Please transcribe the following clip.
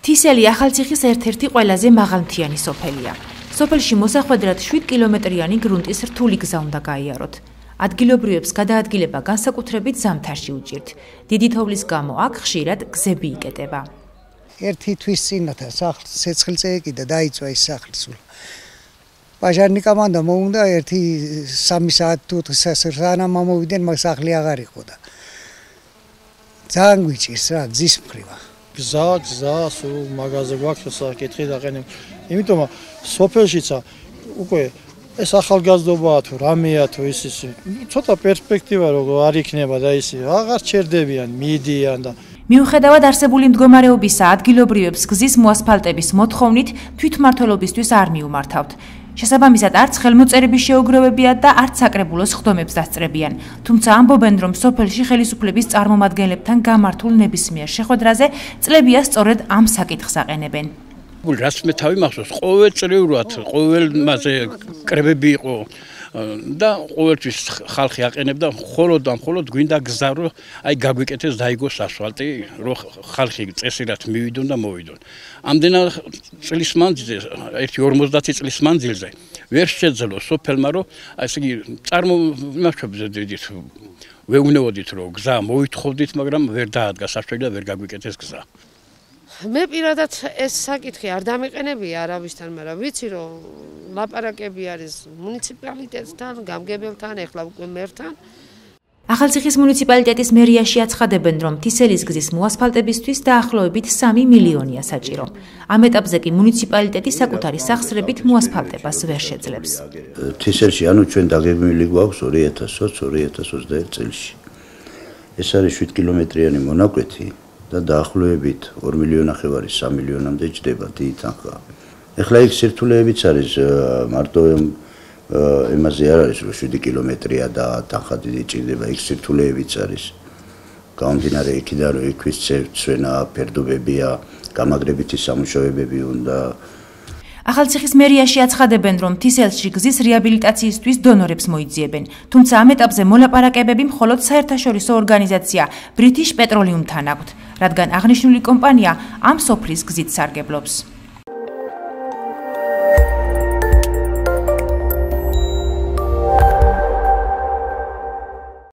თისელი ახალციხის ერთ-ერთი ყველაზე მაღალმთიანი სოფელია. სოფელში მოსახვედრად 7 კილომეტრიანი გრუნტის რთული გზა უნდა გაიაროთ. ადგილობრივებს გადაადგილება განსაკუთრებით ზამთარში უჭირთ. დიდი თოვლის გამო აქ ხშირად გზები იკეტება. ერთი თვის წინათა სახლს ცეცხლზე ეკიდა დაიწვა ის სახლი სულ. პაჟარნიკამ და მოუნდა ერთი 3 საათი თუ სანამ მომოვიდნენ მაგ სახლი აღარ იყო და ძალიან გვიჭირს რა გზის მხრივა. გზა სულ მაღაზია გვაქვს საკითხი დაყენებ. იმიტომ სოფელშიცა უკვე ეს ახალგაზრდობაა თუ რამეა თუ ის ცოტა პერსპექტივა როგორ არ იქნება და ისე აღარ ჩერდებიან, მიდიან და მიუხედავად არსებული მდგომარეობისა, ადგილობრივებს გზის მოასფალტების მოთხოვნით თვითმმართველობისთვის არ მიუმართავთ. შესაბამისად, არც ხელმოწერების შეუგროვებია და არც საკრებულოს ხდომებს დასწრებიან. თუმცა ამბობენ, რომ სოფელში ხელისუფლების წარმომადგენლებთან გამართულ ნებისმიერ შეხვედრაზე წლებია სწორედ ამ საკითხს აყენებენ. რას მე თავი მახსოვს, ყოველწლიურად, ყოველ მასე კრებები იყო და ყოველთვის ხალხი აყენებდა მხოლოდ გვინდა გზა რომ აი გაგვიკეთეს დაიგოს ასფალტი რომ ხალხი წესირად მივიდონ და მოვიდონ. ამდენად წლის მანძილზე 50 წლის მანძილზე ვერ შეძლო სოფელმა რომ ესე იგი იმაშობდით ვეუბნებოდით რომ გზა მოვითხოვდით, მაგრამ ვერ დაადგა საშუალება და ვერ გაგვიკეთეს გზა. მე პირადად ეს საკითხი არ დამიყენებია არავისთან, მაგრამ ვიცი რომ ლაპარაკები არის მუნიციპალიტეტთან, გამგებელთან, ეხლა უკვე მერთან. ახალციხის მუნიციპალიტეტის მერიაში აცხადებენ, რომ თისელის გზის მოასფალტებისთვის დაახლოებით 3 მილიონია საჭირო. ამ ეტაპზე კი მუნიციპალიტეტი საკუთარი სახსრებით მოასფალტებას ვერ შეძლებს. თისელში ჩვენ დაგეგმილი გვაქვს 2020-2021 წელში. ეს არის 7 კილომეტრიანი მონაკვეთი. და დაახლოებით 2,5 მილიონი 3 მილიონამდე ჯდება დიდი თანხა. ეხლა იქ სირთულეებიც არის მარტო იმაზე არ არის რომ 7 კილომეტრია და თანხა დიდი ჭირდება, იქ სირთულეებიც არის. გამომდინარე იქიდან რომ იქვის ცვენა, ფერდობებია, გამაგრებითი სამუშაოებები უნდა. ახალციხის მერიაში აცხადებენ, რომ თისელში გზის რეაბილიტაციისთვის დონორებს მოიძიებენ. თუმცა ამ ეტაპზე მოლაპარაკებები მხოლოდ საერთაშორისო ორგანიზაცია British Petroleum-თან აქვთ, რადგან აღნიშნული კომპანია ამ სოფლის გზით სარგებლობს.